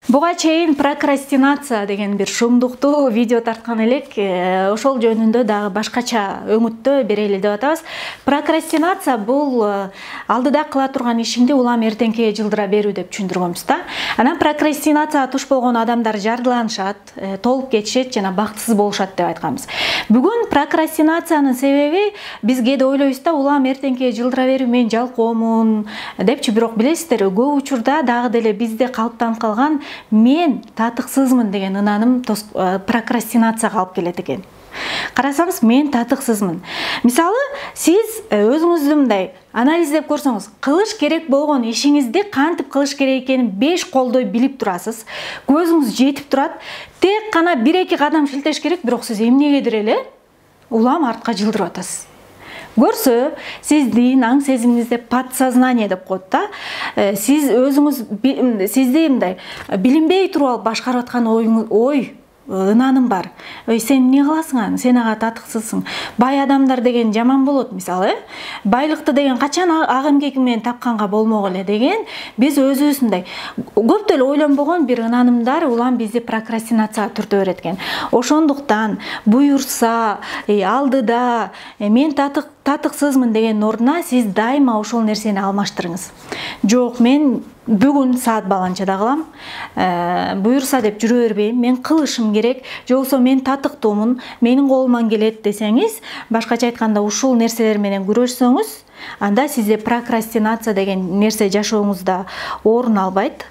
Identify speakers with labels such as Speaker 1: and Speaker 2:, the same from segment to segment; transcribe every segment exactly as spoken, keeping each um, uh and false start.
Speaker 1: Буга чейин прокрастинация деген бир шумдуктуу видео тарткан элек, ошол жөнүндө дагы башкача өңүттө берели деп атабыз. Прокрастинация бул алдыда кыла турган ишиңди улам эртеңкиге жылдыра берүү деп түшүндүргөнбүз да. Анан прокрастинацияга туш болгон адамдар жардыланышат, толуп кетишет жана бактысыз болушат деп айтканбыз. Бүгүн прокрастинациянын себеби биз кээде ойлойбуз да, улам эртеңкиге жылдыра берүү мен жалкоомун депчи, бирок билесиздер, көп учурда дагы деле бизде калыптанып калган мен татыксызмын деген ынааным прокрастинацияга алып келет экен. Карасаңыз, мен татыксызмын. Мисалы, сиз өзүңүздү мындай анализдеп көрсөңүз, кылыш керек болгон ишиңизди кантип кылыш керек экенин беш колдой билип турасыз. Көзүңүз жетип турат. Тек гана бир-эки кадам шилтеш керек, бирок сиз эмнегедир эле улам артка жылдырып атасыз. Көрсө, сиздин аң сезимиңизде подсознание деп коет да. Сиз өзүңүз сизди мындай билинбей туруп алып башкарып аткан оюңуз, ой, ынааным бар. Ой, сен эмне кыласың аны? Сен ага татыксызсың. Бай адамдар деген жаман болот, мисалы, э? Байлыкты деген качан ак эмгеги менен тапканга болмок эле деген биз өзүбүздөй көп деле ойлонбогон бир ынанымдар улам бизди прокрастинацияга түртө берет экен. Ошондуктан буюрса, алдыда мен татык татыксызмын деген ордуна сиз дайыма ошол нерсени алмаштырыңыз. Жок, мен бүгүн саат баланчада кылам, буюрса деп жүрө бербейм, мен кылышым керек, же болбосо мен татыктуумун, менин колуман келет десеңиз, башкача айтканда ушул нерселер менен күрөшсөңүз, анда сизде прокрастинация деген нерсе жашооңузда орун албайт.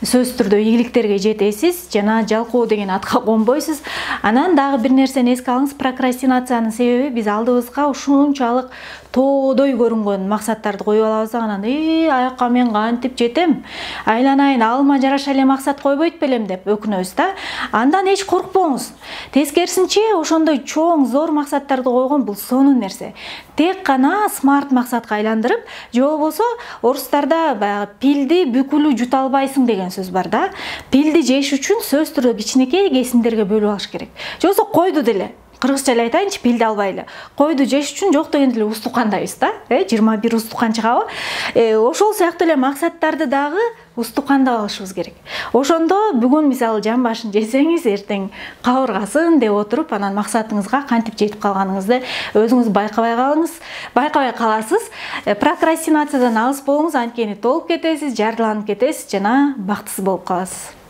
Speaker 1: Сөзсүз түрдө ийгиликтерге жетесиз жана жалкоо деген атка конбойсуз. Анан дагы бир нерсени эске алыңыз, прокрастинациянын себеби биз алдыбызга ушунчалык тоодой көрүнгөн максаттарды коюп алабыз, анан "Эй, аякка мен кантип жетем? Айланайын, алыма жараша эле максат койбойт белем" деп өкүнөбүз да. Андан эч коркпоңуз. Тескерисинче, ошондой чоң, зор максаттарды койгон бул сонун нерсе. Тек гана смарт максатка айландырып, же болбосо орустарда баягы пилди бүкүлү жута албайсың деген сөз бар да. Пилди жеш үчүн сөзсүз түрдө кичинекей кесимдерге бөлүп алыш керек. Же болбосо койду деле, кыргызча эле айтайынчы, пилди албайлы. Койду жеш үчүн жок дегенде эле устукандайбыз да. Э, жыйырма бир устукан чыгабы? Э, ошол сыяктуу эле максаттарды дагы устукандап алышыбыз керек. Ошондо бүгүн мисалы жан башын жесеңиз, эртең кабыргасын деп отуруп, анан максатыңызга кантип жетип калганыңызды өзүңүз байкабай калыңыз, байкабай каласыз. Прокрастинациядан алыс болуңуз, анткени толуп кетесиз, жардыланып кетесиз жана бактысыз болуп каласыз.